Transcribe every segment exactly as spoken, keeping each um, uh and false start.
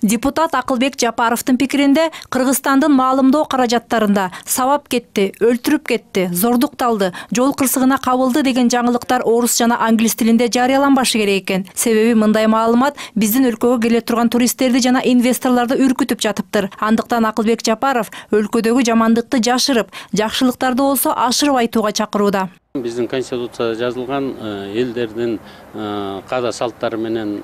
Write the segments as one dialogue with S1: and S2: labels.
S1: Депутат Акылбек Жапаровдун пикиринде, Кыргызстандын маалымдоо каражаттарында сабап кетти, өлтүрүп кетти, зордукталды, жол кырсыгына кабылды деген жаңылыктар орус жана англис тилинде жарыяланбашы керек экен. Себеби мындай маалымат биздин өлкөгө келе турган туристтерди жана инвесторлорду үркүтүп жатыптыр. Андыктан Акылбек Жапаров өлкөдөгү жамандыкты жашырып, жакшылыктарды болсо ашырып айтууга чакырууда.
S2: Биздин конституцияда жазылган элдердин каада салттары менен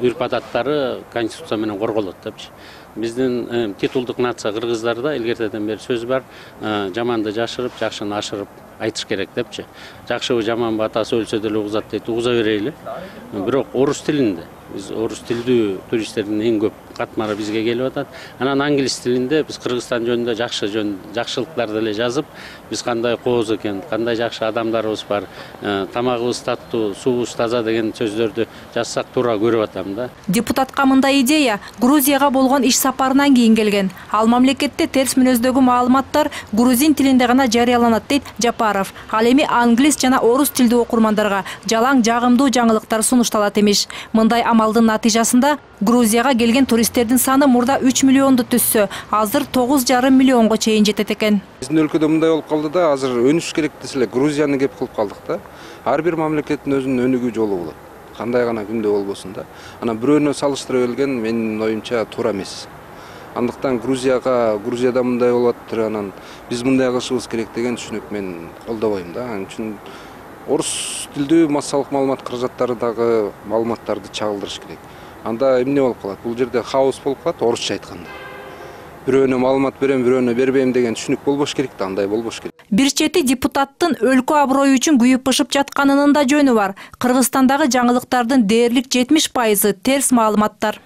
S2: үрп адаттары конституция менен корголот депчи. Биздин титулдук нация кыргыздарда илгертеден бери сөз бар, жаманды жашырып, жакшыны ашырып айтыш керек депчи. Жакшыбы жаманбы атасы өлсө деле угузат дейт, угуза берейли. Бирок орус тилинде биз орус тилдүү туристтердин эң көп катмары бизге келип атат. Анан англис тилинде биз Кыргызстан жөнүндө жакшы жөн жакшылыктарды эле жазып, биз кандай кооз экен, кандай жакшы адамдарыбыз бар, тамагыбыз таттуу, суубуз таза деген сөздөрдү жазсак туура көрүп атам да.
S1: Депутатка мындай идея Грузияга болгон иш сапарынан кийин келген. Ал мамлекетте терс мүнөздөгү маалыматтар грузин тилинде гана жарыяланат дейт Жапаров. Ал эми англис жана орус тилдүү окурмандарга жалаң жагымдуу жаңылыктар сунушталат эмиш. Мындай амалдын натыйжасында Грузияга келген туристтердин саны мурда үч миллионду түзсө, азыр тогуз жарым миллионго чейин жетет экен.
S3: Биздин өлкөдө мындай болуп калды да, азыр өнүш керек десе эле Грузияны кеп кылып калдык да. Ар бир мамлекеттин өзүнүн өнүгүү жолу болот. Кандай гана күндө болбосун да. Анан бирөөнө салыштыра келген менин оюмча туура эмес. Андыктан Грузияга, Грузияда мындай болуп атыр, анан биз мындай кылышыбыз керек деген түшүнүк мен колдобойм да. Анын үчүн орус тилдүү массалык маалымат каражаттарындагы маалыматтарды чагылдырыш керек. Анда эмне болуп калат? Бул жерде хаос болуп калат, орусча айтканда. Бирөөнө маалымат берем, бирөөнө бербейм деген түшүнүк болбош керек да, андай болбош керек.
S1: Бир чети депутаттын өлкө аброю үчүн күйүп-пышып жатканынын да жөнү бар. Кыргызстандагы жаңылыктардын дээрлик жетимиш пайызы терс маалыматтар.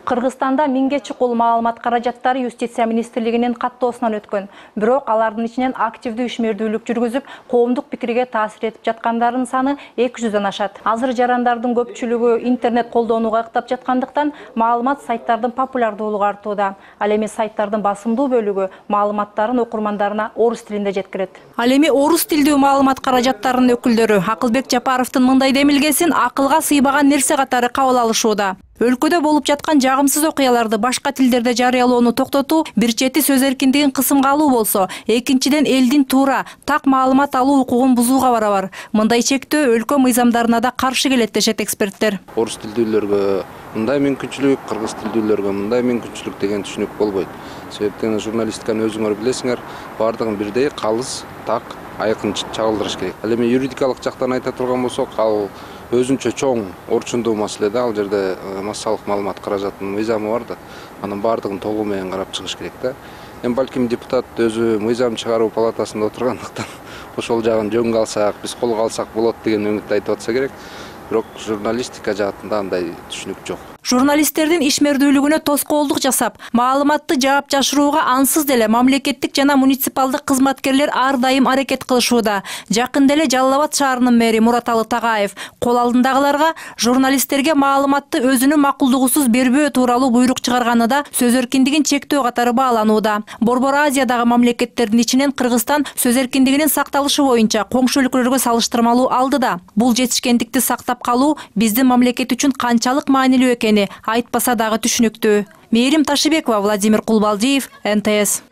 S1: Кыргызстанда миңге чукул маалымат каражаттары юстиция министрлигинин каттоосунан өткөн. Бирок алардын ичинен активдүү ишмердүүлүк жүргүзүп, коомдук пикирге таасир этип жаткандардын саны эки жүздөн ашат. Азыр жарандардын көпчүлүгү интернет колдонууга ыктап жаткандыктан маалымат сайттардын популярдуулугу артууда. Ал эми сайттардын басымдуу бөлүгү маалыматтарын окурмандарына орус тилинде жеткирет. Ал эми орус тилдүү маалымат каражаттарынын өкүлдөрү Акылбек Жапаровдун мындай демилгесин акылга сыйбаган нерсе катары кабыл алышууда. Өлкөдө болуп жаткан жагымсыз окуяларды башка тилдерде жарыялоону токтотуу бир чети сөз эркиндигин кысымга алуу болсо, экинчиден элдин туура, так маалымат алуу укугун бузууга барабар. Мындай чектөө өлкө мыйзамдарына да каршы келет дешет эксперттер.
S3: Орус тилдүүлөргө мындай мүмкүнчүлүк, кыргыз тилдүүлөргө мындай мүмкүнчүлүк деген түшүнүк болбойт. Себептен журналистиканы өзүңөр билесиңер, бардыгын бирдей калыс, так, айкын чагылдырыш керек. Ал эми юридикалык жактан айта турган болсок, ал өзүнчө чоң орчундуу маселе да. Ал жерде массалык маалымат каражатынын мыйзамы бар да. Анын бардыгын толугу менен карап чыгыш керек да. Эми балким депутат өзү мыйзам чыгаруу палатасында отургандыктан ошол жагын жөнгө алсак, биз колго алсак болот деген үмүттү айтып атса керек. Бирок журналистика жаатында андай түшүнүк жок.
S1: Журналисттердин ишмердүүлүгүнө тоскоолдук жасап, маалыматты жаап жашырууга ансыз деле мамлекеттик жана муниципалдык кызматкерлер ар дайым аракет кылышууда. Жакында эле Жалал Абад шаарынын мэри Мураталы Тагаев кол алдындагыларга журналисттерге маалыматты өзүнүн макулдугусуз бербөө тууралуу буйрук чыгарганы да сөз эркиндигин чектөө катары бааланууда. Борбор Азиядагы мамлекеттердин ичинен Кыргызстан сөз эркиндигинин сакталышы боюнча коңшу өлкөлөргө салыштырмалуу алдыда. Бул жетишкендикти сактап калуу биздин мамлекет үчүн канчалык маанилүү экени айтпаса дагы түшүнүктүү. Мээрим Ташыбекова, Владимир Кулбалдиев, эн тэ эс.